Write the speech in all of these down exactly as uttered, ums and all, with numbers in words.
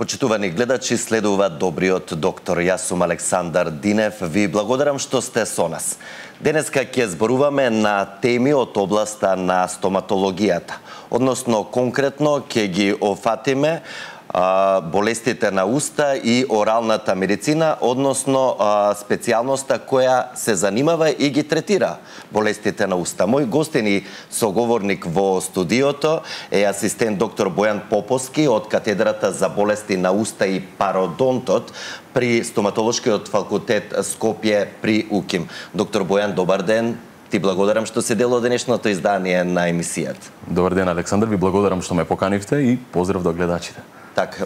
Почитувани гледачи, следува добриот доктор. Јас сум Александар Динев. Ви благодарам што сте со нас. Денеска ќе зборуваме на теми од областа на стоматологијата. Односно, конкретно ќе ги офатиме а, болестите на уста и оралната медицина, односно а, специјалноста која се занимава и ги третира болестите на уста. Мој гостин и соговорник во студиото е асистент доктор Бојан Поповски од катедрата за болести на уста и пародонтот при стоматолошкиот факултет Скопје при УКИМ. Доктор Бојан, добар ден. Ти благодарам што се дел од денешното издание на емисијата. Добар ден, Александар, ви благодарам што ме поканивте и поздрав до гледачите. Так,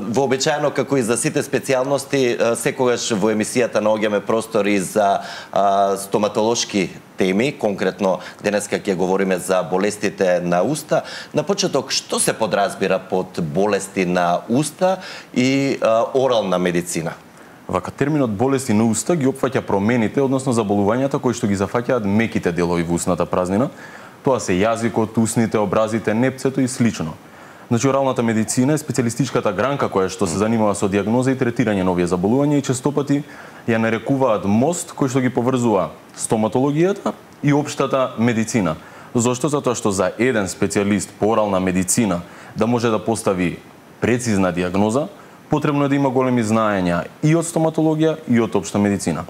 вообичаено како и за сите специјалности, секогаш во емисијата наоѓаме простори за а, стоматолошки теми, конкретно денеска ќе говориме за болестите на уста. На почеток, што се подразбира под болести на уста и а, орална медицина? Вака, терминот болести на уста ги опфаќа промените, односно заболувањата кои што ги зафаќаат меките делови во устната празнина. Тоа се јазикот, усните, образите, непцето и слично. Значи, оралната медицина е специјалистичката гранка која што се занимава со дијагноза и третирање на овие заболувања и честопати ја нарекуваат мост кој што ги поврзува стоматологијата и општата медицина. Зошто? Затоа што за еден специјалист по орална медицина да може да постави прецизна дијагноза, потребно е да има големи знаења и од стоматологија и од општа медицина.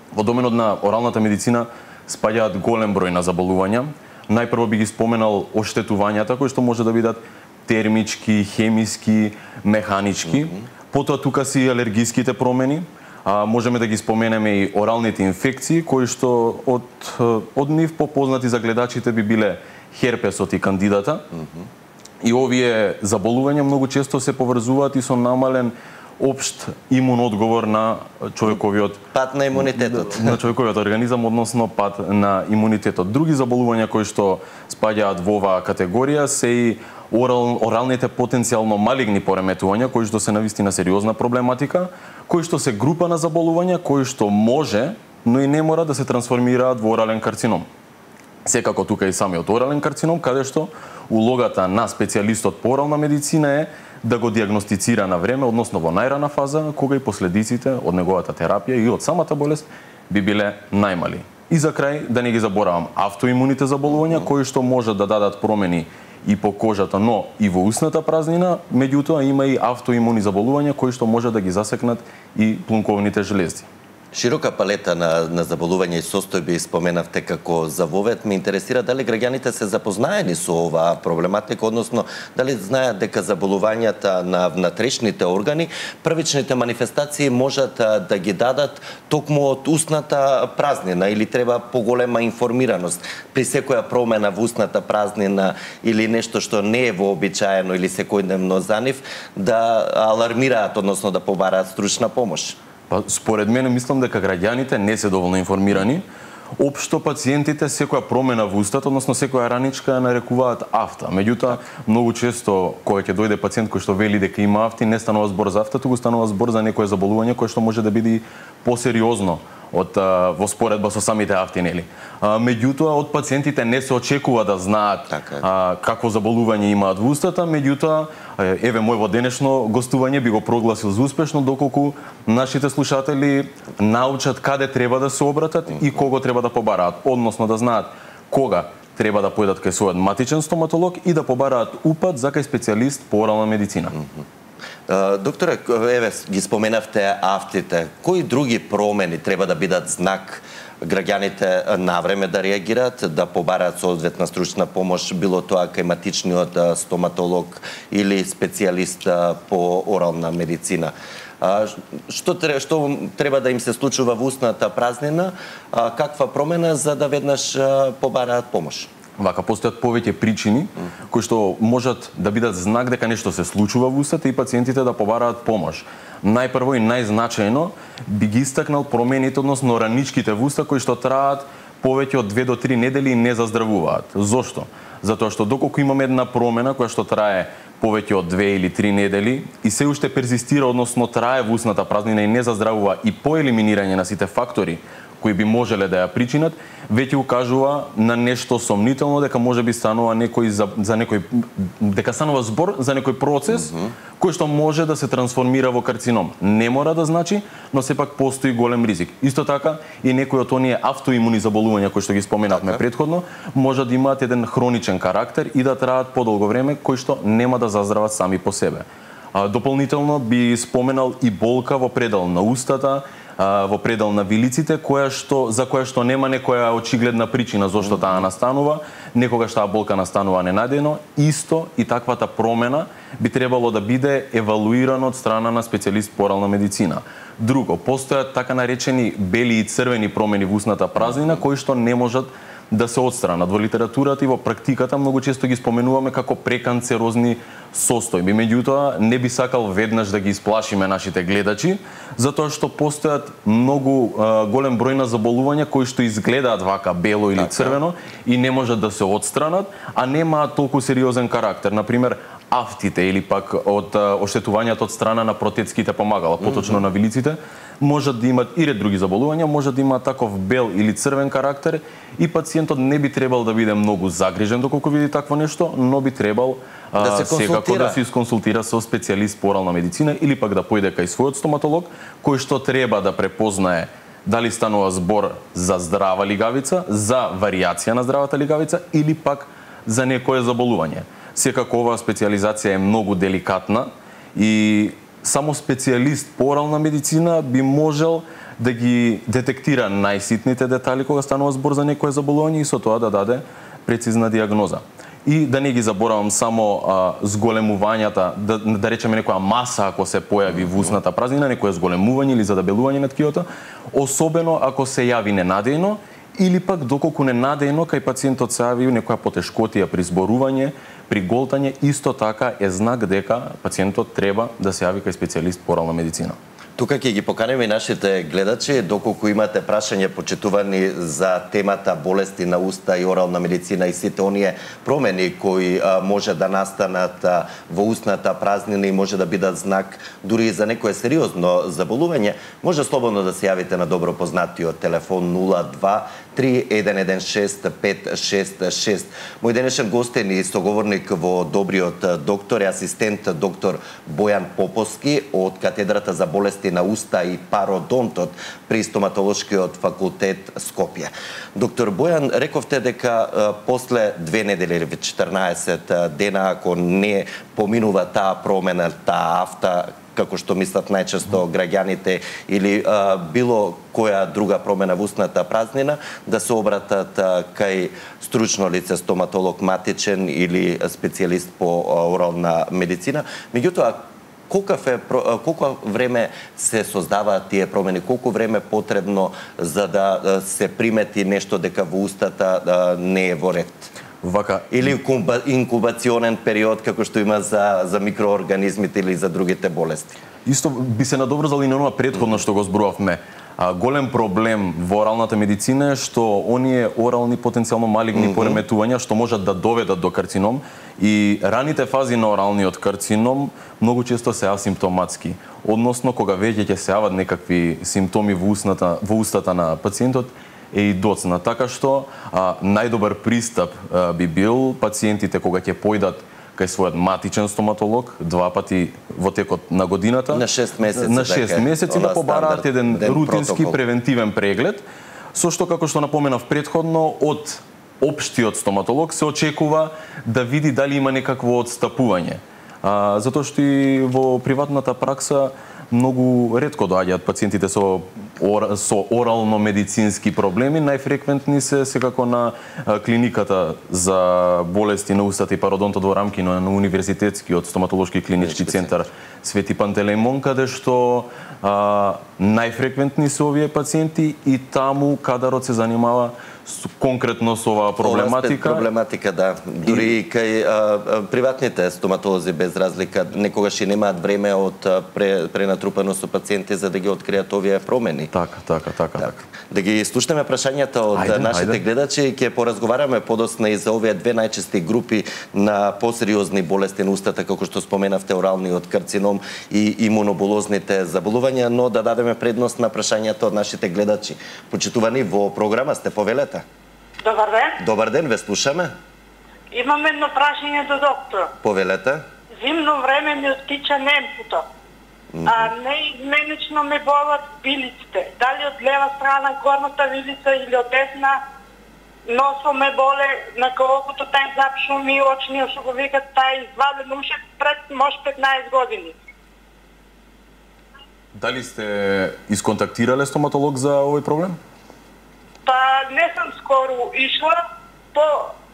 Во доменот на оралната медицина спаѓаат голем број на заболувања. Најпрво би ги споменал оштетувањата кои што може да бидат термички, хемиски, механички. Mm-hmm. Потоа тука си алергиските промени. А, можеме да ги споменеме и оралните инфекции кои што од од нив попознати за гледачите би биле херпесот и кандидата. Mm-hmm. И овие заболувања многу често се поврзуваат и со намален општ имун одговор на човековиот пат на имунитетот. На човековиот организам, односно пат на имунитетот. Други заболувања кои што спаѓаат во оваа категорија се и орал, оралните потенцијално малигни пореметувања кои што се навистина сериозна проблематика, кои што се група на заболувања кои што може, но и не мора да се трансформираат во орален карцином. Секако тука и самиот орален карцином, каде што улогата на специјалистот по орална медицина е да го дијагностицира на време, односно во најрана фаза, кога и последиците од неговата терапија и од самата болест би биле најмали. И за крај, да не ги заборавам, автоимуните заболувања, кои што можат да дадат промени и по кожата, но и во устната празнина, меѓутоа има и автоимуни заболувања кои што може да ги засекнат и плунковните желези. Широка палета на, на заболувања и состојби споменавте како за вовет. Ме интересира дали граѓаните се запознаени со оваа проблематика, односно дали знаат дека заболувањата на внатрешните органи, првичните манифестации можат да ги дадат токму од устната празнина или треба поголема информираност при секоја промена во устната празнина или нешто што не е вообичаено или секојдневно за нив да алармираат, односно да побараат стручна помош? Па, според мене, мислам дека граѓаните не се доволно информирани. Општо пациентите секоја промена во устата, односно секоја раничка ја нарекуваат афта. Меѓутоа, многу често кога ќе дојде пациент кој што вели дека има афти, не станува збор за афта, туку станува збор за некое заболување кое што може да биде посериозно од а, во споредба со самите афти, нели. А, меѓутоа, од пациентите не се очекува да знаат а, какво заболување имаат во устата, меѓутоа, еве мојво денешно гостување би го прогласил за успешно доколку нашите слушатели научат каде треба да се обратат и кого треба да побараат, односно да знаат кога треба да појдат кај својот матичен стоматолог и да побараат упат за кај специјалист по орална медицина. Докторе, еве ги споменавте афтите. Кои други промени треба да бидат знак граѓаните на време да реагираат, да побараат соодветна стручна помош, било тоа кај матичниот стоматолог или специјалист по орална медицина? Што треба, што треба да им се случува во устната празнина? Каква промена за да веднаш побараат помош? Вака, постојат повеќе причини кои што можат да бидат знак дека нешто се случува во устата и пациентите да побараат помош. Најпрво и најзначајно би ги истакнал промените, односно раничките во уста кои што траат повеќе од две до три недели и не заздравуваат. Зошто? Затоа што доколку имаме една промена која што трае повеќе од две или три недели и се уште перзистира, односно трае во устната празнина и не заздравува и по елиминирање на сите фактори кои би можеле да ја причинат, веќе укажува на нешто сомнително дека може би станува некој за, за некој дека станува збор за некој процес mm -hmm. кој што може да се трансформира во карцином. Не мора да значи, но сепак постои голем ризик. Исто така и некои од оние автоимуни заболувања кои што ги споменавме претходно, може да имаат еден хроничен карактер и да траат подолго време, кои што нема да заздрават сами по себе. А, дополнително би споменал и болка во предел на устата, во предел на вилиците, која што за која што нема некоја очигледна причина зошто таа настанува, некогаш таа болка настанува ненадејно, исто и таквата промена би требало да биде евалуирана од страна на специјалист по орална медицина. Друго, постојат така наречени бели и црвени промени во устната празнина кои што не можат да се отстранат. Во литературата и во практиката многу често ги споменуваме како преканцерозни состојби. Меѓутоа, не би сакал веднаш да ги исплашиме нашите гледачи, затоа што постојат многу а, голем број на заболувања кои што изгледаат вака бело или црвено и не можат да се отстранат, а немаат толку сериозен карактер. Например, афтите или пак од оштетувањата од страна на протетските помагала, поточно mm -hmm. на вилиците, можат да имат и ред други заболувања, може да имаат таков бел или црвен карактер и пациентот не би требал да биде многу загрижен доколку види такво нешто, но би требал да се секако да се исконсултира со специјалист по орална медицина или пак да појде кај својот стоматолог, кој што треба да препознае дали станува збор за здрава лигавица, за варијација на здравата лигавица или пак за некое заболување. Секако оваа специјализација е многу деликатна и само специјалист по орална медицина би можел да ги детектира најситните детали кога станува збор за некое заболување и со тоа да даде прецизна диагноза. И да не ги заборавам само а, зголемувањата, да, да речеме некоја маса ако се појави во устната празнина, некое зголемување или задебелување на ткиото, особено ако се јави ненадејно или пак доколку ненадејно кај пациентот се јави некоја потешкотија при зборување, при голтање, исто така е знак дека пациентот треба да се јави кај специјалист по орална медицина. Тука ќе ги поканеме и нашите гледачи, доколку имате прашање почитувани за темата болести на уста и орална медицина и сите оние промени кои а, може да настанат а, во устната празнина и може да бидат знак дури и за некое сериозно заболување, може слободно да се јавите на добро познатиот телефон нула два три еден еден шест пет шест шест. Мој денешен гостин и соговорник во Добриот доктор е асистент доктор Бојан Поповски од катедрата за болести на уста и пародонтот при стоматолошкиот факултет Скопје. Доктор Бојан, рековте дека а, после две недели или четрнаесет дена, ако не поминува таа промена, таа афта, како што мислат најчесто граѓаните, или а, било која друга промена во устната празнина, да се обратат а, кај стручно лице, стоматолог матичен или специјалист по а, орална медицина. Меѓутоа, колкав е, колко време се создаваат тие промени, колку време потребно за да се примети нешто дека во устата а, не е во ред? Вака или инкубационен период како што има за за микроорганизмите или за другите болести. Исто би се надоврзал и на оноа претходно што го зборувавме. А, голем проблем во оралната медицина е што оние орални потенцијално малигни mm -hmm. пореметувања што можат да доведат до карцином и раните фази на оралниот карцином многу често се асимптоматски. Односно кога веќе ќе се јават некакви симптоми во устната во устата на пациентот е и доцна. Така што а, најдобар пристап а, би бил пациентите кога ќе појдат кај својот матичен стоматолог два пати во текот на годината, на шест месеци, на шест месеци да побараат еден рутински протокол. Превентивен преглед, со што како што напоменав претходно, од општиот стоматолог се очекува да види дали има некакво отстапување. А, затоа што и во приватната пракса многу ретко доаѓаат пациентите со ор, со орално-медицински проблеми. Најфреквентни се секако на а, клиниката за болести на устата и пародонтот во рамки на, на Универзитетскиот стоматолошки клинички центар Свети Пантелејмон, каде што а, најфреквентни се овие пациенти и таму кадарот се занимава конкретно со оваа проблематика. Ова проблематика, да. Дури и кај а, а, приватните стоматолози без разлика некогаш и немаат време од пре, пренатрупано со пациенти за да ги откријат овие промени. Така, така, така, да. така. Да ги слушнеме прашањата од Ајде, нашите ајде. гледачи и ќе поразговараме подосна и за овие две најчести групи на посериозни болести на устата, како што споменавте, оралниот карцином и имуноболозните заболувања, но да дадеме предност на прашањата од нашите гледачи. Почитувани, во програма сте, повелете. Добар ден. Добар ден, ве слушаме. Имам едно прашање до доктор. Повелете. Зимно време ми оттича немпуто. Mm -hmm. А неизменично ме болат вилиците. Дали од лева страна горната вилица или од десна, носо ме боле, на колкото тај запшуми, очниот што го викат тај изваден уше пред може петнаесет години. Дали сте исконтактирале стоматолог за овој проблем? Па не сум скоро ишла, по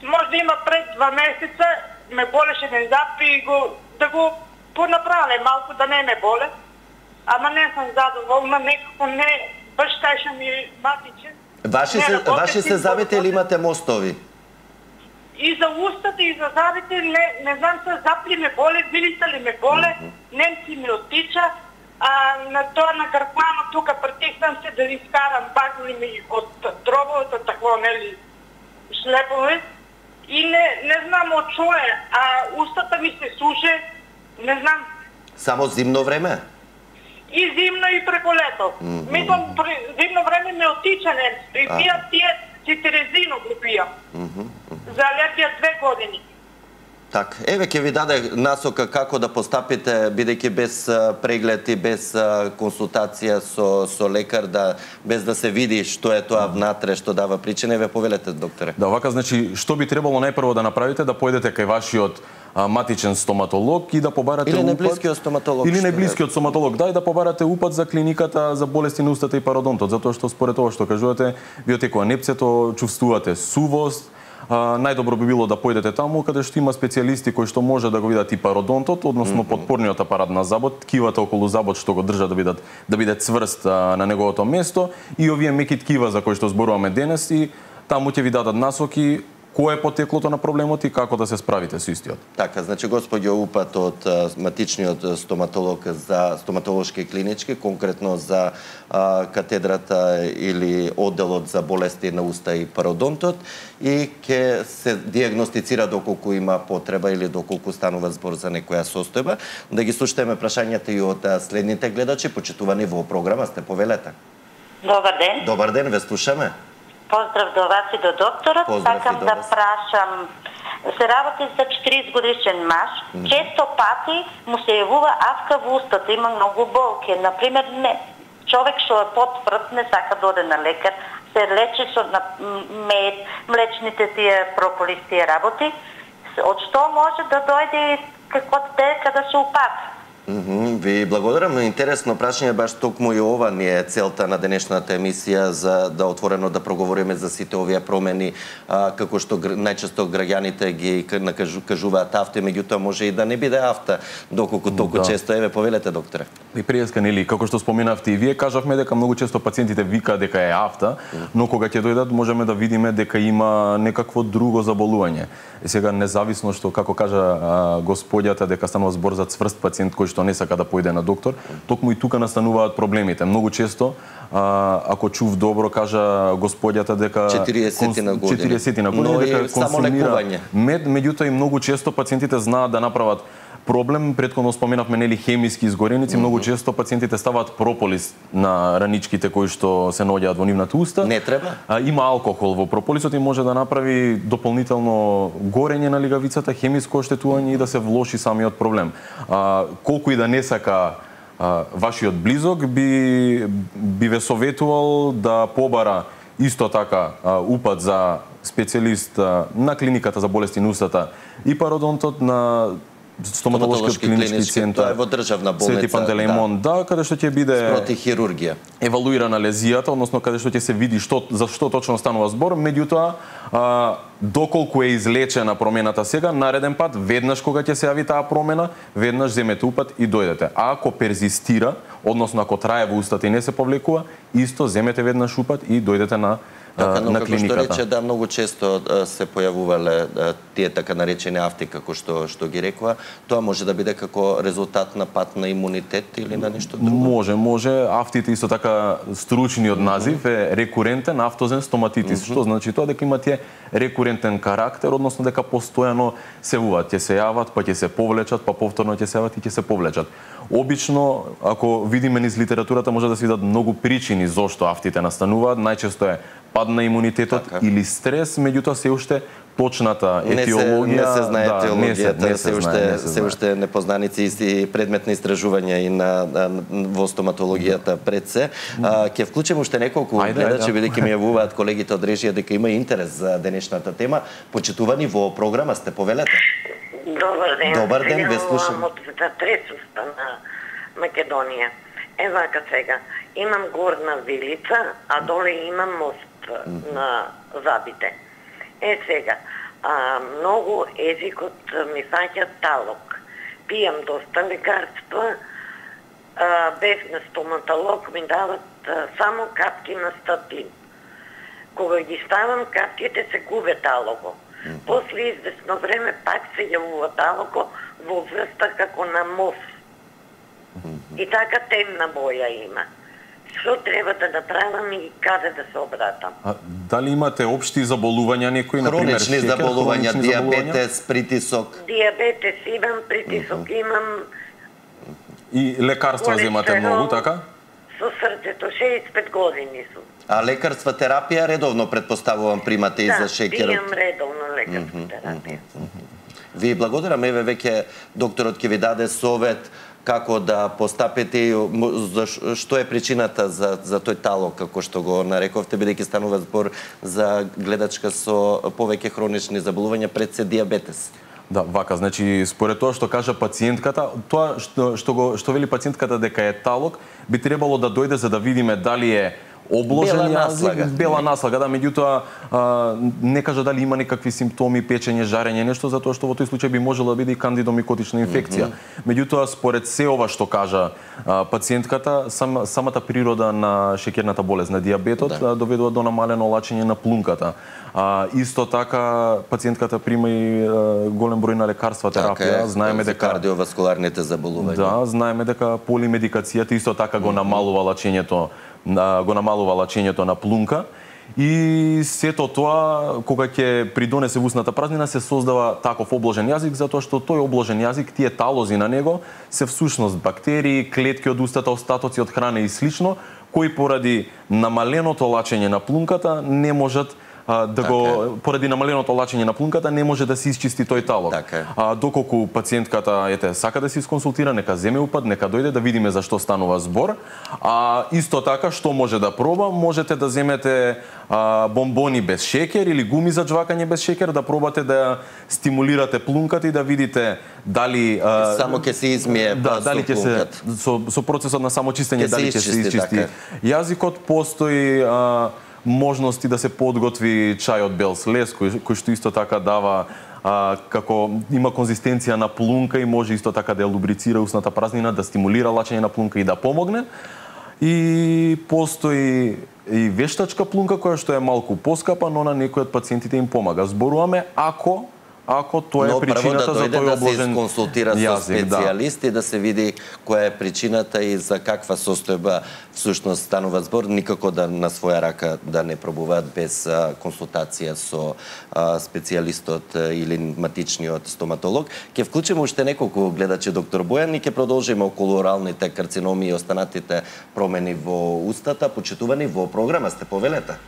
може да има пред два месеца ме болеше еден зап и го да го понаправиле малку да не ме боле. Ама не сум задоволна, некако не баш тај што ми матичен. Ваши се, ваши се забите или имате мостови? И за устата, и за забите, не, не знам се запли ме боле, вилица ли ме боле, mm -hmm. немци ми оттича, а на тоа на гркмано тука притиснам се да искарам багли ми од дробовата такво, нели, шлепове, и не, не знам од што е, а устата ми се суше, не знам. Само зимно време? И зимно и преко лето. Mm -hmm. Мислам, зимно време ме оттича немци, и пијат тие цитерезино го пијам. Mm -hmm. За алергија две години. Так, еве ќе ви даде насока како да постапите, бидејќи без преглед и без консултација со со лекар, да без да се види што е тоа внатре, што дава причина. Еве повелете, докторе. Да, вака значи што би требало најпрво да направите, да појдете кај вашиот а, матичен стоматолог и да побарате или упат. Или најблискиот стоматолог. Или најблискиот стоматолог, да, и да побарате упат за клиниката за болести на устата и пародонтот, затоа што според тоа што кажувате, вие отекува непцето, чувствувате сувост. А, најдобро би било да појдете таму каде што има специјалисти кои што може да го видат и пародонтот, односно mm -hmm. подпорниот апарат на забот, ткивата околу забот што го држат да бидат да биде цврст а, на неговото место, и овие меки ткива за кои што зборуваме денес, и таму ќе ви дадат насоки кој е потеклото на проблемот и како да се справите со истиот. Така, значи господјо упат од матичниот стоматолог за стоматолошки клинички, конкретно за а, катедрата или одделот за болести на уста и пародонтот, и ќе се диагностицира доколку има потреба или доколку станува збор за некоја состојба. Да ги слушаме прашањата и од следните гледачи, почитувани во програма, сте, повелете. Добар ден. Добар ден, ве слушаме. Поздрав до вас и до докторот. Поздрав Сакам до да вас. прашам, се работи за четириесет годишен маж, mm -hmm. често пати му се јавува авка во устата, има многу болки. Например, не, човек што е потврд, не сака да оде на лекар, се лечи со на мед, млечните тие прополис, тие работи. Од што може да дојде како дека да се упати? Mm -hmm. Ви благодарам. Интересно прашање, баш токму и ова ни е целта на денешната емисија, за да отворено да проговориме за сите овие промени, а, како што најчесто граѓаните ги кажуваат авто, меѓутоа може и да не биде авто, доколку толку да. често. Еве повелете, докторе. И пријаска, нели, како што споменавте и вие, кажавме дека многу често пациентите викаат дека е авто, mm -hmm. но кога ќе дојдат можеме да видиме дека има некакво друго заболување. И сега независно што, како кажа а, господјата, дека станува збор за цврст пациент кој што не сака да појде на доктор, токму и тука настануваат проблемите. Многу често, а, ако чув добро, кажа господјата дека четириесет на години, четириесет на години, но дека консумира мед, меѓутоа и многу често пациентите знаат да направат проблем. Претходно споменавме, нели, хемиски изгореници, mm -hmm. многу често пациентите ставаат прополис на раничките кои што се наоѓаат во нивната уста. Не треба. А, има алкохол во прополисот и може да направи дополнително горење на лигавицата, хемиско оштетување и да се влоши самиот проблем. А, колку и да не сака а, вашиот близок, би би ве советувал да побара исто така а, упат за специјалист а, на клиниката за болести на устата и пародонтот, на стоматолошкиот клинички центар. Тоа е во државна болница. Свети Пантелеимон, да, да, каде што ќе биде спроти хирургија евалуирана лезијата, односно каде што ќе се види што за што точно станува збор, меѓутоа а, доколку е излечена промената сега, нареден пат веднаш кога ќе се јави таа промена, веднаш земете упат и дојдете. А ако перзистира, односно ако трае во устата и не се повлекува, исто земете веднаш упат и дојдете на така, но на како клиниката. што рече, да, многу често се појавувале тие така наречени афти, како што што ги рекува. Тоа може да биде како резултат на пат на имунитет или на нешто друго? Може, може. Афтите исто така стручниот назив е рекурентен афтозен стоматитис, mm -hmm. што значи тоа дека има тие рекурентен карактер, односно дека постојано се уват, ќе се јават, па ќе се повлечат, па повторно ќе се јават и ќе се повлечат. Обично, ако видиме низ литературата, може да се видат многу причини зошто афтите настануваат. Најчесто е пад на имунитетот така. Или стрес, меѓутоа се уште точната етиологија не се, не се знае да, етиологијата, не се, не се, се, уште, знае, не се, се уште непознаници и предмет на истражување и на, на во стоматологијата пред се. А, ќе вклучим уште неколку гледачи, бидејќи ми јавуваат колегите од режија дека има интерес за денешната тема. Почитувани во програма сте, повелете. Добар ден. Добар ден, ве слушам. Од Тресуста на Македонија. Е вака сега, имам горна вилица, а доле имам мост mm -hmm. на Забите. Е сега, а, многу езикот ми фаќа талок. Пијам доста лекарства, а, бев на стоматолог, ми дават а, само капки на статин. Кога ги ставам капките се губе талого. Mm -hmm. После известно време пак се јавува талого во врста како на мов. Mm -hmm. И така темна боја има. Што треба да направам и каде да се обратам? А, дали имате општи заболувања некои, на пример, хронични шекер, заболувања, хронични диабетес, притисок? Диабетес имам, притисок mm -hmm. имам. И лекарства земате многу, така? Со срцето, шеесет и пет години сум. А лекарства, терапија редовно предпоставувам примате и да, за шекерот? Да, пијам редовно лекарства, mm -hmm. терапија. Mm -hmm. Ви благодарам, еве веќе докторот ќе ви даде совет како да постапите, што е причината за, за тој талок, како што го нарековте, бидејќи станува збор за гледачка со повеќе хронични заболувања, пред се диабетес. Да, вака, значи според тоа што кажа пациентката, тоа што што го што вели пациентката дека е талок, би требало да дојде за да видиме дали е обложен бела јазик, наслага. бела наслага, да, меѓутоа не кажа дали има некакви симптоми, печење, жарење, нешто, затоа што во тој случај би можела да биде и кандидомикотична инфекција. Mm -hmm. Меѓутоа, според се ова што кажа а, пациентката, сам, самата природа на шеќерната болест, на диабетот, да. доведува до намалено лачење на плунката. А, исто така, пациентката прима и а, голем број на лекарства, терапија. Така, знаеме за дека кардиоваскуларните заболувања. Да, знаеме дека полимедикацијата исто така го намалува лачењето го намалува лачењето на плунка и сето тоа кога ќе придонесе во устната празнина се создава таков обложен јазик, затоа што тој обложен јазик, тие талози на него се всушност бактерии, клетки од устата, остатоци од храна и слично, кои поради намаленото лачење на плунката не можат а, да така го поради намаленото лачење на плунката не може да се исчисти тој талог. Така а доколку пациентката ете сака да се исконсултира, нека земе упат, нека дојде да видиме за што станува збор. А исто така што може да проба, можете да земете а, бомбони без шекер или гуми за џвакање без шекер, да пробате да стимулирате плунката и да видите дали а, само ќе се измие да, дали ќе се со, со процесот на самочистење дали ќе се изчисти така јазикот. Постои а, можности да се подготви чај од бел слез, кој, кој што исто така дава а, како има конзистенција на плунка и може исто така да ја лубрицира устната празнина, да стимулира лачење на плунка и да помогне. И постои и вештачка плунка која што е малку поскапа, но на некои од пациентите им помага. Зборуваме ако ако тоа е причината да за тој обложен јазик. Но прво да дојде да се консултира со специјалист и да се види која е причината и за каква состојба всушност станува збор, никако да на своја рака да не пробуваат без а, консултација со а, специјалистот а, или матичниот стоматолог. Ќе вклучиме уште неколку гледачи, доктор Бојан, и ќе продолжиме околу оралните карциноми и останатите промени во устата. Почитувани во програма сте, повелете.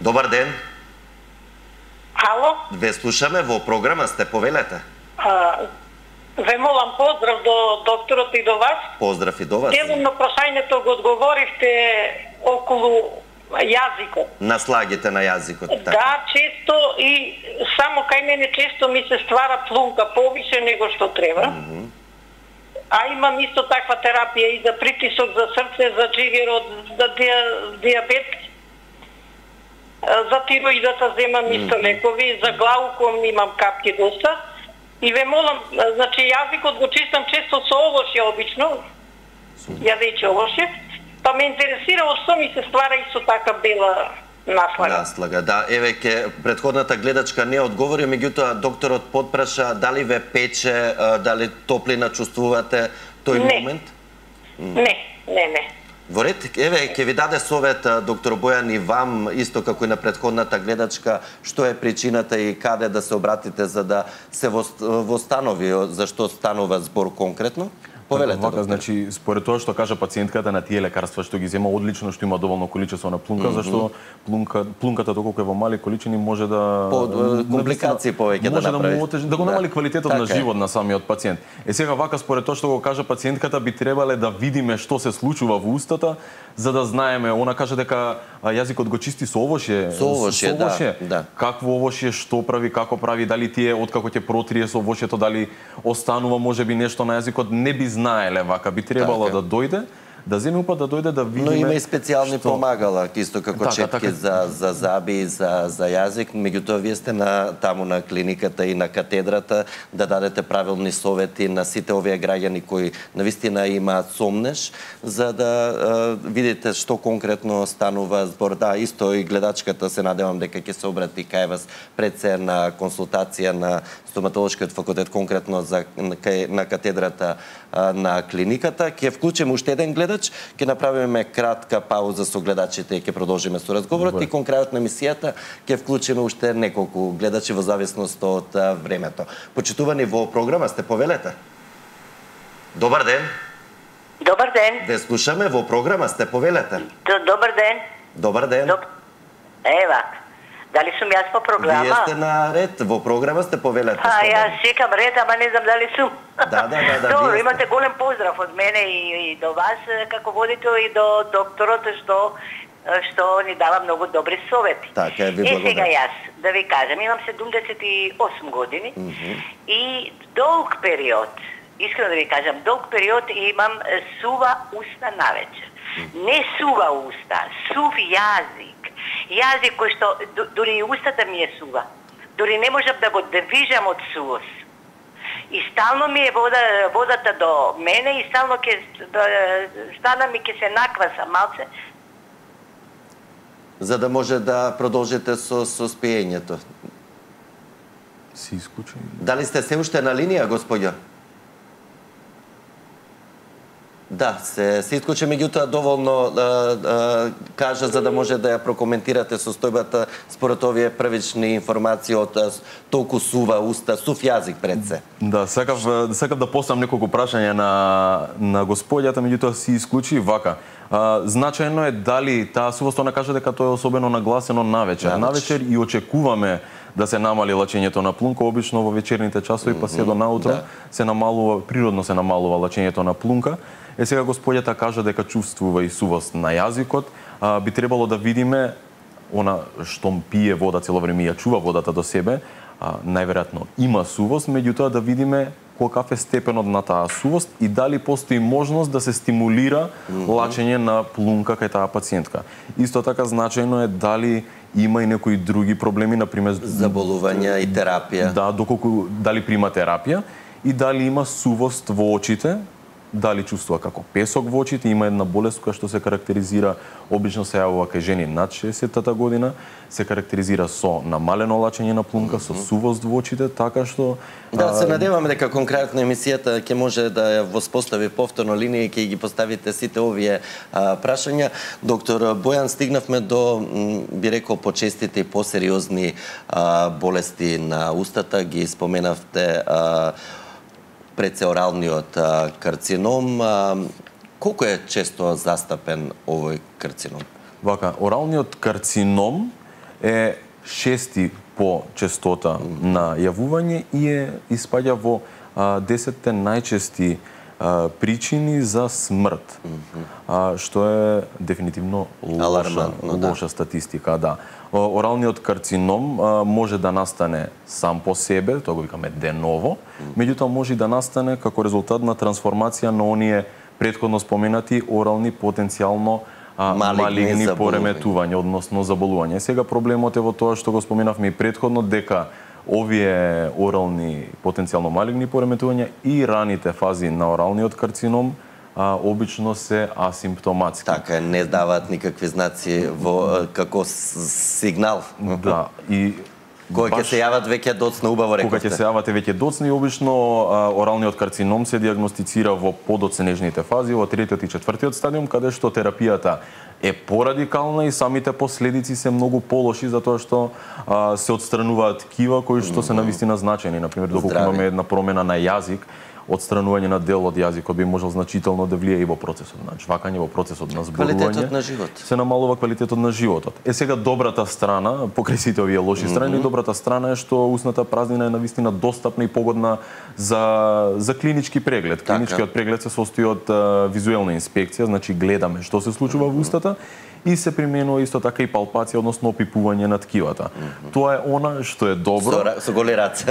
Добар ден. Ало? Ве слушаме, во програма сте, повелете. А, ве молам поздрав до докторот и до вас. Поздрав и до вас. Делом на прашањето го одговоривте околу јазикот. Наслагите на јазикот. Така. Да, често и само кај мене често ми се ствара плунка повише него што треба. Mm -hmm. А имам исто таква терапија и за притисок, за срце, за джигерот, за диабет. За тироидата земам исто лекови, за глауком имам капки доста. И ве молам, значи јазикот го чистам често со овошје обично, јадејќи овошје, па ме интересира од што ми се ствара исто така бела Наслага. Наслага, да. Еве ке претходната гледачка не одговори, меѓутоа докторот потпраша дали ве пече, дали топлина чувствувате тој не. момент? Не, не, не. Во ред, еве, ќе ви даде совет доктор Бојан и вам, исто како и на претходната гледачка, што е причината и каде да се обратите за да се востанови зашто станува збор конкретно? Повелете, Вака, значи, според тоа што кажа пациентката на тие лекарства што ги зема одлично, што има доволно количество на плунка, mm -hmm. зашто плунка, плунката доколку е во мали количини може да По, компликации повеќе да направи. Да, отеж... да го намали квалитетот така на живот на самиот пациент. Е сега вака според тоа што го кажа пациентката би требале да видиме што се случува во устата, за да знаеме. Она кажа дека јазикот го чисти со овошје. Со овошје, да, да. Какво овошје, што прави, како прави, дали тие откако ќе протрие со овошјето, дали останува можеби нешто на јазикот, не би знаеле вака, би требало така да дојде, да земе упат да дојде да видиме. Но има и специјални што... помагала, исто како така, четки така... за за заби, за за јазик, меѓутоа вие сте на таму на клиниката и на катедрата да дадете правилни совети на сите овие граѓани кои навистина имаат сомнеш, за да а, видите што конкретно станува збор. Да, исто и гледачката се надевам дека ќе се обрати кај вас пред се на консултација на стоматолошкиот факултет, конкретно за кај, на катедрата а, на клиниката. Ќе вклучиме уште еден гледач, ќе направиме кратка пауза со гледачите и ќе продолжиме со разговорот. Добре. И кон крајот на емисијата ќе вклучиме уште неколку гледачи во зависност од а, времето. Почитувани во програма сте, повелете. Добар ден. Добар ден. Ве слушаме, во програма сте, повелете. Добар ден. Добар ден. Доб... Ева, дали сум јас по програма? Вие сте на ред, во програма сте, повелете. А, јас чекам ред, ама не знам дали сум. Да, да, да, да. Добро, имате голем поздрав од мене и, и до вас како водител и до докторот што што ни дава многу добри совети. Така е, ви благодарам. благодарам. Е, сега јас да ви кажам, имам седумдесет и осум години mm -hmm. и долг период, искрено да ви кажам, долг период имам сува уста навечер. Mm -hmm. Не сува уста, сув јазик. Јазик кој што дури и устата ми е сува. Дури не можам да го движам од сувост. И стално ми е вода, водата до мене и стално ке да, стана ми ке се накваса малце. За да може да продолжите со со спиењето. Си исклучен. Дали сте се уште на линија, господја? Да, се, се исклучи, меѓутоа доволно а, а, кажа за да може да ја прокоментирате состојбата според овие првични информации од толку сува уста, сув јазик пред се. Да, сакав, сакав да поставам неколку прашања на, на господјата, меѓутоа си исклучи вака. А, значајно е дали таа сувост, она кажа дека тоа е особено нагласено навечер. Да, навечер и очекуваме да се намали лачењето на плунка, обично во вечерните часови, mm -hmm, па се до наутро, да. се намалува, природно се намалува лачењето на плунка. Е сега господјата кажа дека чувствува и сувост на јазикот, а, би требало да видиме она што пие вода цело време и ја чува водата до себе, а, најверојатно има сувост, меѓутоа да видиме колкав е степенот на таа сувост и дали постои можност да се стимулира mm -hmm. лачење на плунка кај таа пациентка. Исто така значајно е дали има и некои други проблеми, например заболувања и терапија. Да, доколку дали прима терапија и дали има сувост во очите, дали чувствува како песок во очите, има една болест која што се карактеризира, обично се јавува кај жени над шеесеттата година, се карактеризира со намалено лачење на плунка, mm -hmm. со сувост во очите, така што... Да, се надеваме дека конкретно емисијата ќе може да ја воспостави повторно линија и ќе ги поставите сите овие а, прашања. Доктор Бојан, стигнавме до, би рекол, почестите и посериозни а, болести на устата, ги споменавте а, предсеоралниот карцином. Колку е често застапен овој карцином? Вака, оралниот карцином е шести по честота mm -hmm. на јавување и е испаѓа во а, десетте најчести а, причини за смрт, mm -hmm. а, што е дефинитивно лоша, лоша да. статистика. Да. Оралниот карцином а, може да настане сам по себе, тоа го викаме деново, меѓутоа може да настане како резултат на трансформација на оние претходно споменати орални потенцијално а, малигни, малигни пореметувања, односно заболувања. Сега проблемот е во тоа што го споменавме и претходно, дека овие орални потенцијално малигни пореметувања и раните фази на оралниот карцином а, обично се асимптоматски. Така, не даваат никакви знаци во како сигнал. Да, и кога ќе се јават веќе доцна, убаво рековте. Кога ќе се јавате веќе доцна и обично а, оралниот карцином се диагностицира во подоцнежните фази, во третиот и четвртиот стадиум, каде што терапијата е порадикална и самите последици се многу полоши затоа што а, се отстрануваат ткива кои што се навистина значени. Например, доколку имаме една промена на јазик, отстранување на дел од јазикот би можел значително да влие и во процесот на жвакање, во процесот на зборување. Квалитетот на живот. Се намалува квалитетот на животот. Е сега добрата страна, покрај сите овие лоши страни, mm -hmm. добрата страна е што усната празнина е навистина достапна и погодна за за клинички преглед. Клиничкиот преглед се состои од а, визуелна инспекција, значи гледаме што се случува mm -hmm. во устата и се применува исто така и палпација, односно опипување на ткивата. Mm -hmm. Тоа е она што е добро. Со, со голи раце.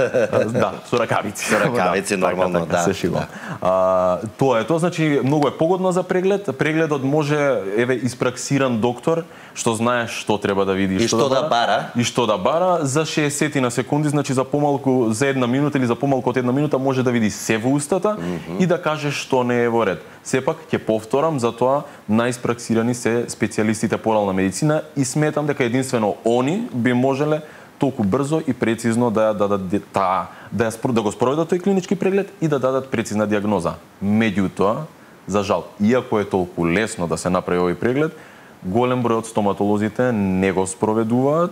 Да, со ракавици. Со ракавици, да, нормално, така, така, да. Се шигувам. Да. Тоа е тоа, значи многу е погодно за преглед. Прегледот може, еве, испраксиран доктор што знае што треба да види, и што, што да, да бара, и што да бара за шеесет на секунди, значи за помалку за една минута или за помалку од една минута може да види се во устата mm -hmm. и да каже што не е во ред. Сепак ќе повторам, затоа најиспраксирани се специјалистите по орална медицина и сметам дека единствено они би можеле толку брзо и прецизно да ја дадат таа да ја да го спроведат тој клинички преглед и да дадат прецизна диагноза. Меѓутоа, за жал, иако е толку лесно да се направи овој преглед, голем број од стоматолозите не го спроведуваат.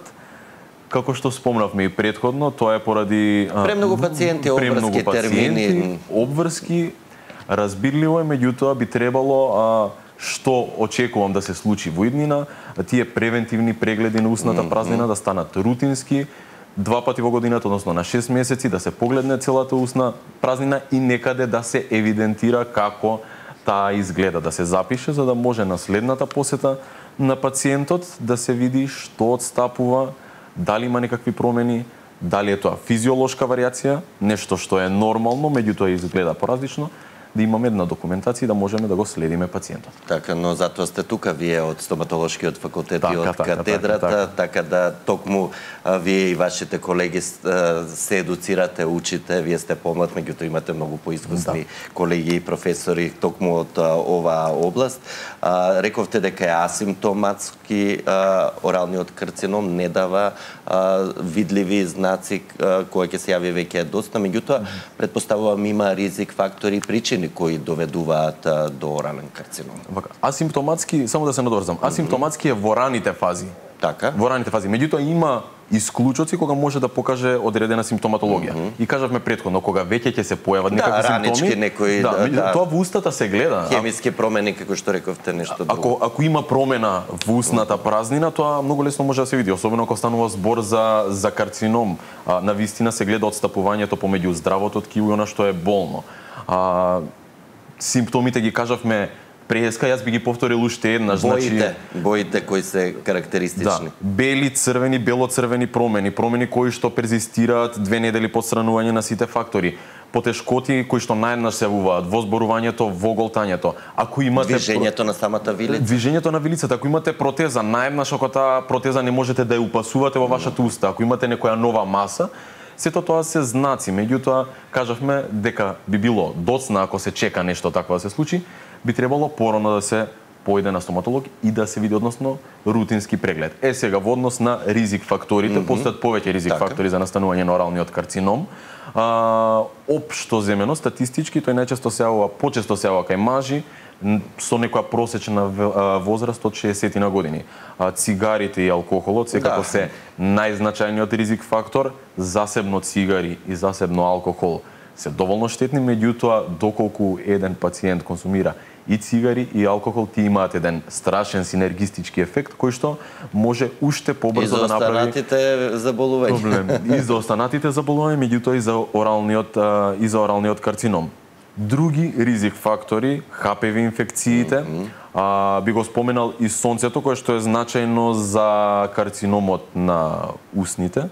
Како што спомнавме и претходно, тоа е поради премногу пациенти, обврски термини, обврски, разбирливо е, меѓутоа би требало а, што очекувам да се случи во иднина, тие превентивни прегледи на усната празнина да станат рутински, два пати во годината, односно на шест месеци, да се погледне целата усна празнина и некаде да се евидентира како таа изгледа, да се запише, за да може на следната посета на пациентот да се види што отстапува, дали има некакви промени, дали е тоа физиолошка варијација, нешто што е нормално, меѓутоа изгледа поразлично, да имаме една документација и да можеме да го следиме пациентот. Така, но затоа сте тука вие од стоматолошкиот факултет и од така, катедрата, така, така. така да токму а, вие и вашите колеги се едуцирате, учите, вие сте помлад, меѓутоа имате многу поискусни да. колеги и професори токму од а, оваа област. А, рековте дека е асимптоматски а, оралниот карцином, не дава а, видливи знаци а, кои ќе се јави веќе доста, меѓутоа претпоставувам има ризик фактори и причини кои доведуваат а, до орален карцином. Вака, асимптоматски, само да се надврзам, асимптоматски е во раните фази. Така. Во раните фази. Меѓутоа има исклучоци кога може да покаже одредена симптоматологија. Mm -hmm. И кажавме претходно, кога веќе ќе се појават да, некакви ранички, симптоми, некои, да, да, да, тоа во устата се гледа. Хемиски промени, како што рековте, нешто друго. Ако ако има промена во устната празнина, тоа многу лесно може да се види, особено ако станува збор за за карцином. А, на вистина се гледа отстапувањето помеѓу здравото ткиво и она што е болно. А, симптомите ги кажавме преска, јас би ги повторил уште еднаш, боите, значи боите кои се карактеристични. Да, бели, црвени, белоцрвени промени, промени кои што перзистираат две недели по отстранување на сите фактори, потешкоти кои што наједнаш се јавуваат во зборувањето, во голтањето. Ако имате движењето на самата вилица, движењето на вилицата, ако имате протеза, наједнаш ако таа протеза не можете да ја упасувате во вашата уста, ако имате некоја нова маса, сето тоа се знаци, меѓутоа кажавме дека би било доцна ако се чека нешто такво да се случи, би требало порано да се поиде на стоматолог и да се види, односно рутински преглед. Е сега во однос на ризик факторите, mm -hmm. постојат повеќе ризик така. фактори за настанување на оралниот карцином. А, општо земено, статистички, тој најчесто се јавува, почесто се јавува кај мажи, со некоја просечна возраст од шеесет на години. А, цигарите и алкохолот секако да. се најзначајниот ризик фактор, засебно цигари и засебно алкохол се доволно штетни, меѓутоа доколку еден пациент консумира и цигари и алкохол, ти имаат еден страшен синергистички ефект кој што може уште побрзо да направи и за останатите заболувања. Проблем. И за останатите заболувања, меѓутоа и за оралниот и за оралниот карцином. Други ризик фактори, Х П В инфекциите, mm -hmm. а, би го споменал и сонцето, кое што е значајно за карциномот на усните,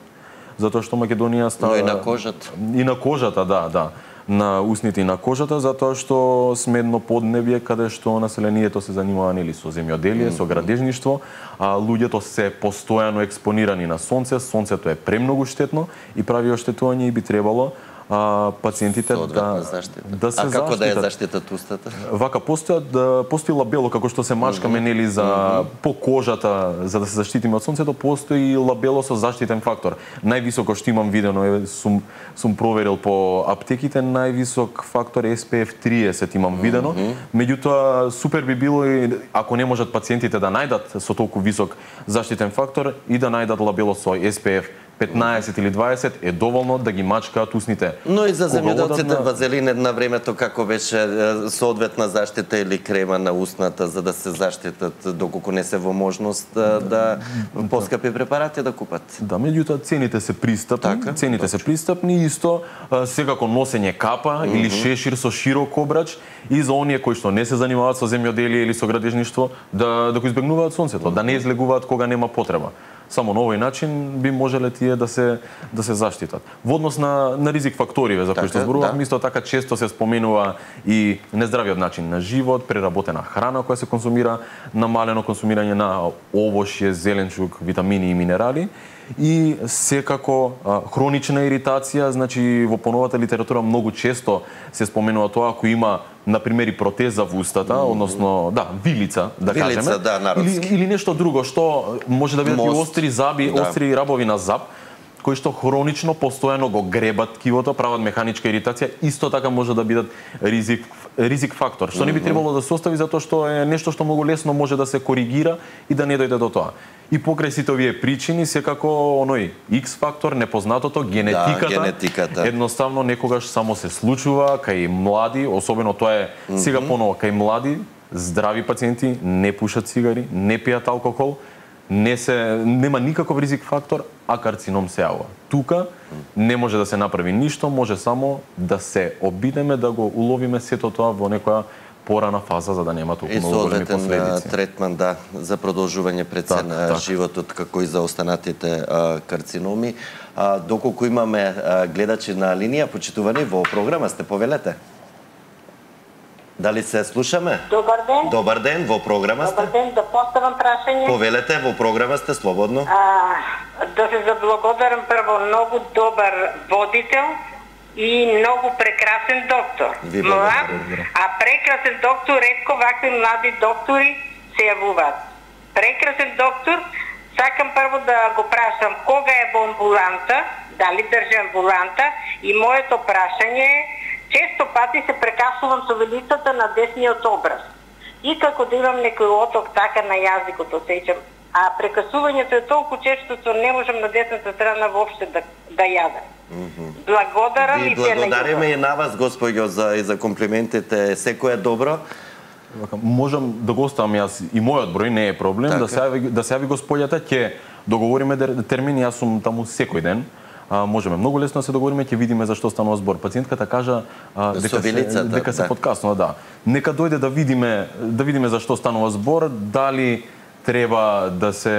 затоа што Македонија става... Но и на кожата. И на кожата, да, да. На усните и на кожата, затоа што сме едно поднебје каде што населението се занимава нели со земјоделие, mm -hmm. со градежништво, а луѓето се постојано експонирани на сонце, сонцето е премногу штетно и прави оштетување и би требало а, пациентите да, да се А како заштитат. да ја заштитат устата? Вака постојат да постои лабело како што се мачкаме mm -hmm. нели за mm -hmm. по кожата за да се заштитиме од сонцето, постои лабело со заштитен фактор. Највисоко што имам видено е сум сум проверил по аптеките, највисок фактор Ес Пи Еф триесет имам видено. Mm -hmm. Меѓутоа супер би било и ако не можат пациентите да најдат со толку висок заштитен фактор и да најдат лабело со Ес Пи Еф петнаесет или дваесет е доволно да ги мачкаат усните. Но и за земјоделците на... вазелин на времето како беше соодветна заштита или крема на устната за да се заштитат доколку не се во можност да, да поскапи препарати да купат. Да, меѓутоа цените се пристапни, така, цените точно. се пристапни исто секако носење капа mm -hmm. или шешир со широк обрач и за оние кои што не се занимаваат со земјоделие или со градежништво да да го избегнуваат сонцето, mm -hmm. да не излегуваат кога нема потреба. Само на овој начин би можеле тие да се да се заштитат. Во однос на на ризик факториве за кои што зборувам, да. Исто така често се споменува и нездравиот начин на живот, преработена храна која се консумира, намалено консумирање на овошје, зеленчук, витамини и минерали и секако а, хронична иритација, значи во поновата литература многу често се споменува тоа ако има на пример и протеза во устата, mm-hmm. односно да, вилица, да вилица, кажеме, да, или или нешто друго што може да бидат и остри заби, да. остри рабови на зап, кои што хронично постојано го гребат ткивото, прават механичка иритација, исто така може да бидат ризик ризик фактор, што mm -hmm. не би требало да се остави затоа што е нешто што многу лесно може да се коригира и да не дојде до тоа. И покрај сите овие причини, секако оној X фактор, непознатото, генетиката, да, генетиката, едноставно некогаш само се случува кај млади, особено тоа е mm -hmm. сега поново кај млади, здрави пациенти, не пушат цигари, не пијат алкохол, не се нема никаков ризик фактор, а карцином се јавува. Тука не може да се направи ништо, може само да се обидеме да го уловиме сето тоа во некоја порана фаза за да нема толку многу големи последици. И третман да за продолжување пред се на так. животот како и за останатите а, карциноми. А, доколку имаме а, гледачи на линија, почитувани во програма сте, повелете. Дали се слушаме? Добар ден. Добар ден, во програма сте. Добар ден, да поставам прашање. Повелете, во програма сте слободно. А, да се заблагодарам прво, многу добар водител и многу прекрасен доктор. Млад, а прекрасен доктор, ретко вакви млади доктори се јавуваат. Прекрасен доктор, сакам прво да го прашам кога е во амбуланта, дали држи амбуланта и моето прашање е често пати се прекасувам со велицата на десниот образ. И како да имам некој оток така на јазикот, осеќам. А прекасувањето е толку често, што не можам на десната страна воопште да, да јадам. Mm -hmm. Благодарам и, и благодариме и на вас, господјо, за, и за комплиментите. Секој е добро. Можам да го оставам јас и мојот број, не е проблем, така. да се јави, да се јави господјата, ќе договориме термини, јас сум таму секој ден. А, можеме многу лесно да се договориме, ќе видиме за што станува збор. Пациентката кажа а, дека се, дека се да. подкаснува, да. Нека дојде да видиме, да видиме за што станува збор, дали треба да се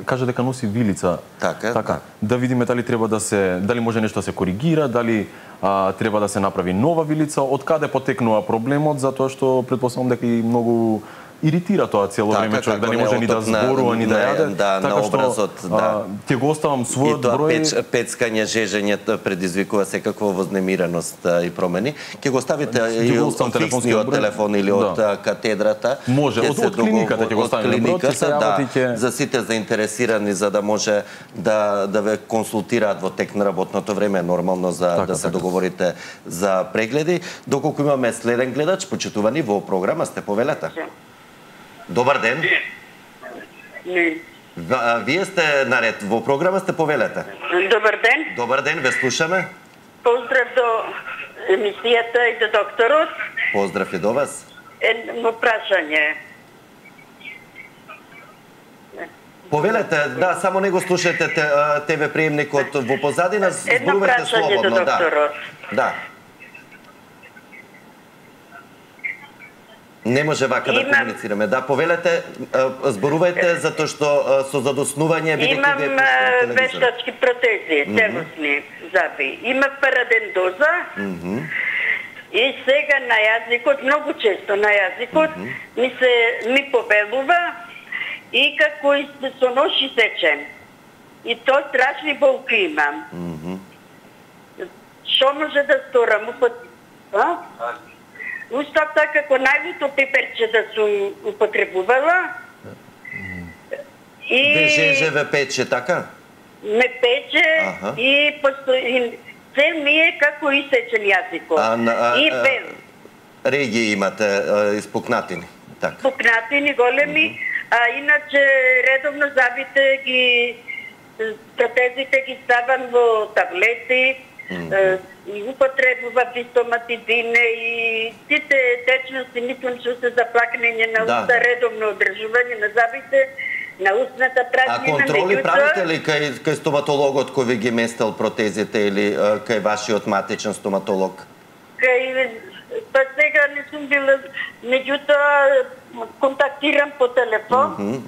кажа дека носи вилица. Така, така. Да. да видиме дали треба да се дали може нешто да се коригира, дали а, треба да се направи нова вилица, од каде потекнува проблемот, затоа што претпоставам дека и многу иритира тоа цело така, време човек да не може ни да зборува ни да јаде. Да, така на образот, што, да. Ќе го оставам својот и тоа број. Печ, пецкање, жежење предизвикува секаква вознемиреност и промени. Ќе го ставите и од фиксниот телефон или од да. катедрата. Може, од, од клиниката ќе го ставиме број, да, ќе... за сите заинтересирани за да може да да ве консултираат во тек на работното време, нормално за така, да се така. договорите за прегледи. Доколку имаме следен гледач, почитувани во програма сте, повелете. Добар ден. Не. Вие сте наред. Во програма сте, повелете. Добар ден. Добар ден, ве слушаме. Поздрав до емисијата и до докторот. Поздрав и до вас. Едно прашање. Повелете, да, само не го слушате ТВ приемникот во позадина, зборувате слободно. Едно прашање до докторот. Да. Да. Не може вака Имам... да комуницираме. Да, повелете, зборувајте затоа што со задоснување бидејќи вие Имам вештачки протези, целосни mm -hmm. заби. Имам парадендоза mm -hmm. и сега на јазикот, многу често на јазикот, mm -hmm. ми се ми побелува и како и со ноши сечем. И тоа страшни болки имам. Mm -hmm. што може да сторам? А? Устата како најлуто пеперче да сум употребувала. И Вежеже ве пече, така? ме пече Аха. и постои се ми е како исечен јазикот. А, на- а, И а, пел. Регии имате а, испукнатини. Така. Пукнатини големи, а иначе редовно забите ги протезите ги ставам во таблети, е, и употребува фистоматидине и сите течности, мислам што се за плакнење на Да, уста, да. редовно одржување на забите, на устната А празнина. контроли меѓутоа, правите ли кај, кај стоматологот кој ви ги местел протезите или а, кај вашиот матичен стоматолог? Кај, па сега не сум била, меѓутоа контактирам по телефон.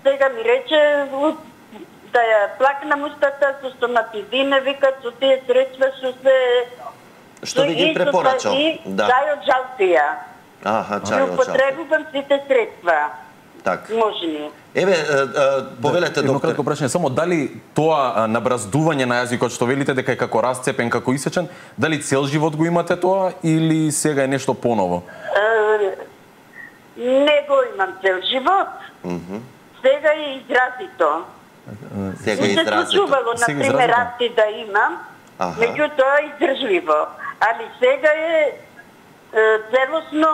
Сега ми рече у- да ја плакнам устата со стоматизина, викат со тие средства што се... Што ви ги и со- препорачал? И Да. чај од жалтија. Аха, Ја чај од жал. употребувам сите средства. Так. Можни. Еве, а, а, повелете, Едно доктор. кратко прашање, само дали тоа а, набраздување на јазикот што велите дека е како расцепен, како исечен, дали цел живот го имате тоа или сега е нешто поново? Е, не го имам цел живот. Сега е изразито. Сега Не се изразито. случувало, Сега например, изразито. расти да имам, Аха. меѓутоа издржливо. Али сега е, е целосно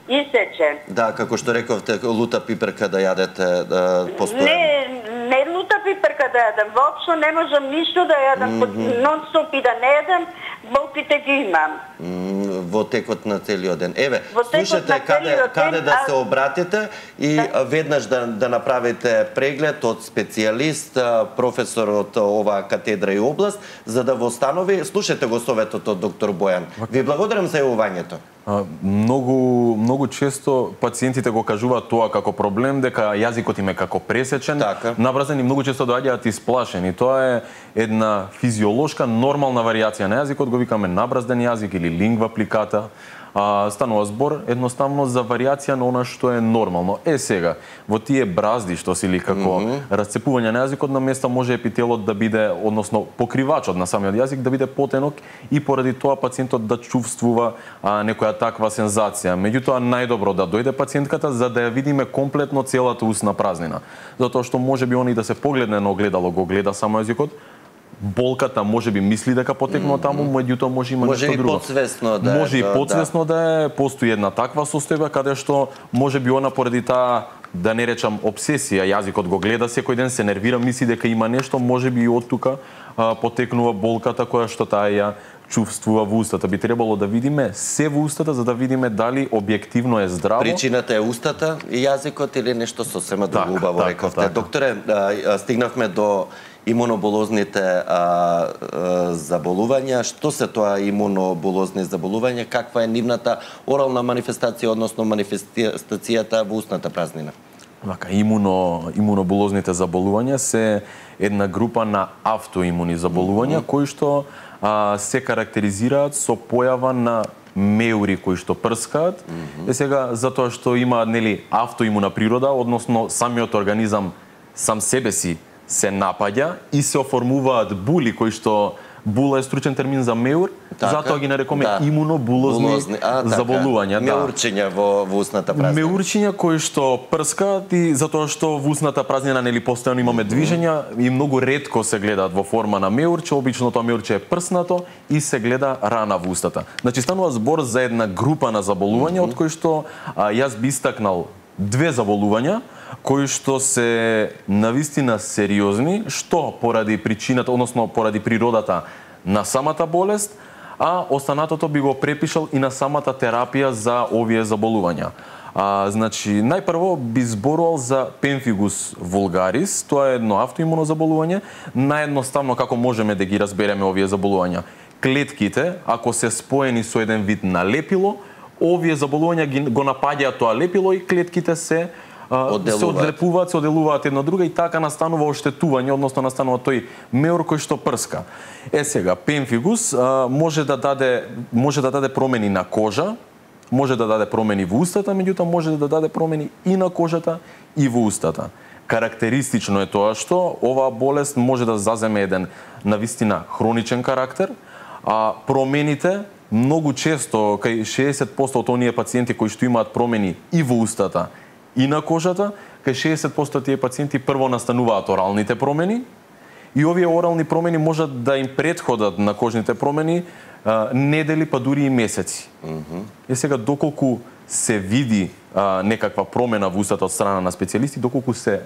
исечен. Да, како што рековте, лута пиперка да јадете да, постојано. Не, не лута пиперка да јадам, воопшто не можам ништо да јадам, нон-стоп и да не јадам, болките ги имам. М, во текот на целиот ден. Еве, Во текот слушате на каде целиот ден, каде да а- се обратите и Да. а, веднаш да да направите преглед од специјалист, а, професор од оваа катедра и област, за да во станови, слушате го советот од доктор Бојан. Ви благодарам за јавувањето. А, многу многу често пациентите го кажуваат тоа како проблем, дека јазикот им е како пресечен, Така. набразен и многу често доаѓаат исплашени. Тоа е една физиолошка нормална варијација на јазикот, го викаме набразден јазик или лингва пликата. А, станува збор едноставно за варијација на она што е нормално. Е сега, во тие бразди што се или како mm -hmm. расцепување на јазикот на места може епителот да биде, односно покривачот на самиот јазик да биде потенок и поради тоа пациентот да чувствува а, некоја таква сензација. Меѓутоа најдобро да дојде пациентката за да ја видиме комплетно целата устна празнина. Затоа што може би он и да се погледне на огледало, го гледа само јазикот, болката може би мисли дека потекнува таму, меѓутоа може има Може нешто и друго. подсвесно да е, Може и да, подсвесно да е, постои една таква состојба каде што може би она поради таа, да не речам обсесија, јазикот го гледа секој ден, се нервира, мисли дека има нешто, може би и од тука а, потекнува болката која што таа ја чувствува во устата. Би требало да видиме се во устата за да видиме дали објективно е здраво. Причината е устата и јазикот или нешто сосема друго, Така, убаво така, рековте. така. Докторе, а, а, стигнавме до имуноболозните а, а, заболувања. Што се тоа имуноболозни заболувања? Каква е нивната орална манифестација, односно манифестацијата во устната празнина? Вака, имуно, имуноболозните заболувања се една група на автоимуни заболувања, mm -hmm. кои што а, се карактеризираат со појава на меури кои што прскаат. Mm -hmm. Е сега, затоа што има нели автоимуна природа, односно самиот организам сам себе си се напаѓа и се оформуваат були кои што була е стручен термин за меур, Така, затоа ги нарекоме да. имуноболозни Булозни, а, така. заболувања. Да. Меурчиња во, во устната празнина. Меурчиња кои што прскаат и затоа што во устната празнина нели постојано имаме движења и многу ретко се гледаат во форма на меурче, обично тоа меурче е прснато и се гледа рана во устата. Значи станува збор за една група на заболувања од кои што а, јас би истакнал две заболувања кои што се навистина сериозни, што поради причината, односно поради природата на самата болест, а останатото би го препишал и на самата терапија за овие заболувања. А, значи, најпрво би зборувал за пемфигус вулгарис, тоа е едно автоимуно заболување, наједноставно како можеме да ги разбереме овие заболувања. Клетките, ако се споени со еден вид на лепило, овие заболувања ги, го напаѓаат тоа лепило и клетките се Одделуваат. се одлепуваат, се оделуваат една друга и така настанува оштетување, односно настанува тој меур кој што прска. Е сега, пемфигус а, може да даде може да даде промени на кожа, може да даде промени во устата, меѓутоа може да даде промени и на кожата и во устата. Карактеристично е тоа што оваа болест може да заземе еден навистина хроничен карактер, А промените многу често кај шеесет проценти од оние пациенти кои што имаат промени и во устата и на кожата, кај шеесет проценти тие пациенти прво настануваат оралните промени и овие орални промени можат да им претходат на кожните промени а, недели па дури и месеци. Mm-hmm. Е сега доколку се види а, некаква промена во устата од страна на специјалисти, доколку се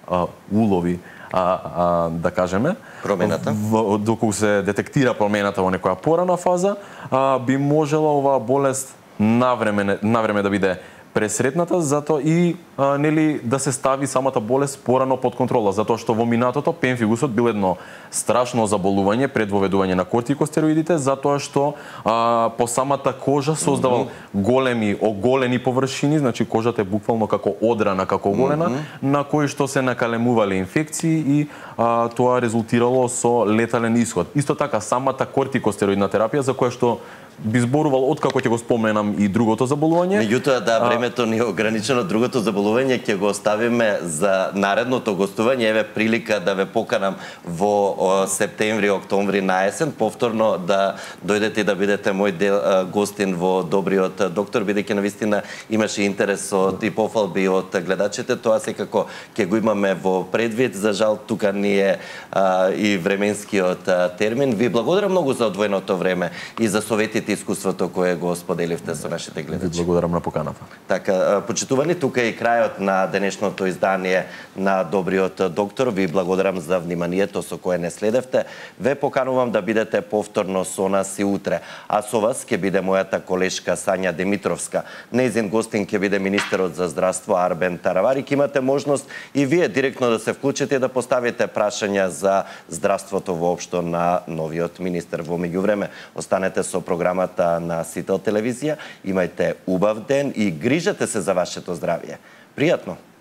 а, улови а, а, да кажеме промената, в, доколку се детектира промената во некоја порана фаза, а, би можела оваа болест навреме навреме да биде пресретната, затоа и а, нели да се стави самата болест порано под контрола, затоа што во минатото пемфигусот бил едно страшно заболување пред воведување на кортикостероидите, затоа што а, по самата кожа создавал mm-hmm. големи оголени површини, значи кожата е буквално како одрана, како оголена, mm-hmm. на кои што се накалемувале инфекции и а, тоа резултирало со летален исход. Исто така самата кортикостероидна терапија за која што би зборувал откако ќе го споменам и другото заболување. Меѓутоа, да, времето ни е ограничено, другото заболување ќе го оставиме за наредното гостување. Еве прилика да ве поканам во септември, октомври на есен, повторно да дојдете и да бидете мој дел, гостин во Добриот доктор, бидејќи навистина имаше интерес од и пофалби од гледачите. Тоа секако ќе го имаме во предвид. За жал, тука ни е а, и временскиот а, термин. Ви благодарам многу за одвоеното време и за советите и искуството кое го споделивте со нашите гледачи. Ви благодарам на поканата. Така, почитувани, тука е и крајот на денешното издание на Добриот доктор. Ви благодарам за вниманието со кое не следевте. Ве поканувам да бидете повторно со нас и утре. А со вас ќе биде мојата колешка Сања Димитровска. Нејзин гостин ќе биде министерот за здравство Арбен Таравари. Имате можност и вие директно да се вклучите и да поставите прашања за здравството воопшто на новиот министер. Во меѓувреме, останете со програмата на Сител телевизија. Имајте убав ден и грижете се за вашето здравје. Пријатно!